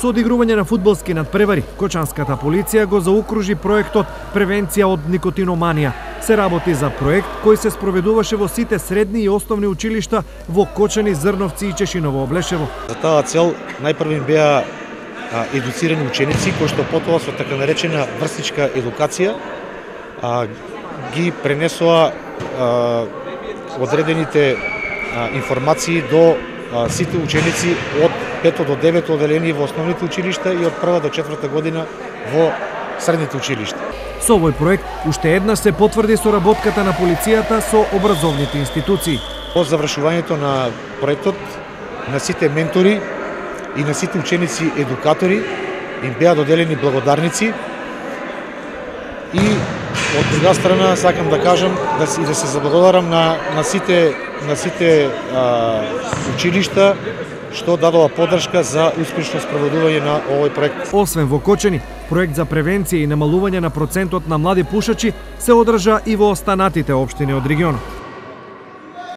Со одигрување на фудбалски надпревари, Кочанската полиција го заукружи проектот Превенција од никотиноманија. Се работи за проект кој се спроведуваше во сите средни и основни училишта во Кочани, Зрновци и Чешиново Облешево. За таа цел најпрво беа едуцирани ученици кои што потоа со така наречена врстничка едукација ги пренесоа одредените информации до сите ученици од 5 до 9 оделени во основните училишта и од 1 до 4 година во средните училишта. Со овој проект уште еднаш се потврди соработката на полицијата со образовните институции. По завршувањето на проектот на сите ментори и на сите ученици едукатори им беа доделени благодарници и од друга страна сакам да кажам да се заблагодарам на сите училишта што дадоа поддршка за успешно спроведување на овој проект. Освен во Кочани, проект за превенција и намалување на процентот на млади пушачи се одржа и во останатите општини од регионот.